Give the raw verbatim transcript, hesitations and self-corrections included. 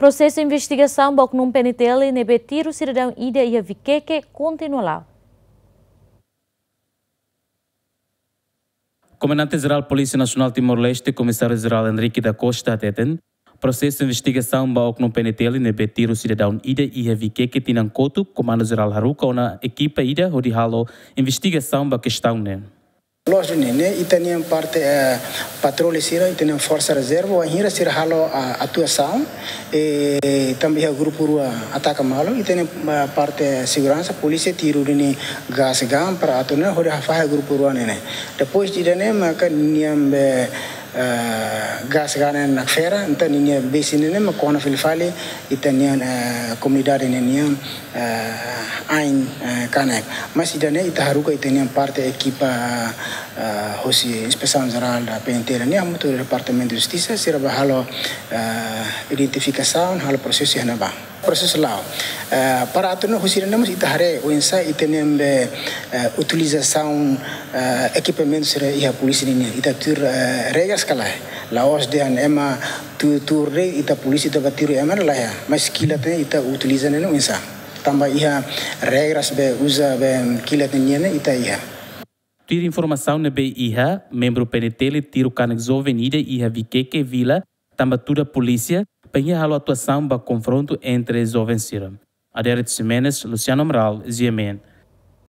Prosesu investigasaun ba oknum P N T L ne'ebé tiru sidadaun ida iha Viqueque kontinua la'o. Komandante Jerál Polísia Nasionál Timor-Leste, Komisáriu Jerál Henrique da Costa hateten, prosesu investigasaun ba oknum P N T L ne'ebé tiru sidadaun ida iha Viqueque tinan kotuk, Komandu Jerál haruka ona ekipa ida hodi halo investigasaun ba kestaun ne'e. Loos duni ne'e, ita-nia parte, eh, patrullu sira, ita-nia forsa rezerva, wainhira sira halo, ah, atuasaun, eh, tanba iha grupu rua ataka malu, ita-nia, ah, parte seguransa, polísia tiru duni gás gam para atu ne'e hodi hafahe grupu rua ne'e. Depois de ne'e, maka ninia be, eh, gás gam ne'e nakfera, entaun ninia besi ne'e mak kona fila fali ita-nia, eh, komunidade ne'e nian, eh, ain, eh, kanek. Mas ida-ne'e ita haruka ita-nia parte ekipa, eh, hosi Inspesaun Jerál da P N T L nian, hamutuk ho Departamentu Justisa, sira bá halo, eh, identifikasaun, halo prosesu iha ne'ebá. Prosesu la'o. Eh, para atu nune'e husi ne'e mós ita haree oinsá ita-nia be, eh, utilizasaun, eh, ekipamentu sira iha polísia nian. Ita tuir, eh, regras ka lae. La'ós dehan ema tuur-tuur de'it ita polísia ita bá tiru ema, lae. Mas kilat ne'e ita utiliza ne'e oinsá. Tanba iha regras be uza be kilat nian ne'e ita iha. Tuir informasaun ne'ebé iha, membru P N T L tiru kanek joven ida iha Viqueque vila, tanba tuda polísia, bainhira halo atuasaun ba konfrontu entre joven sira. Adérito Ximenes, Luciano Amaral, G M N.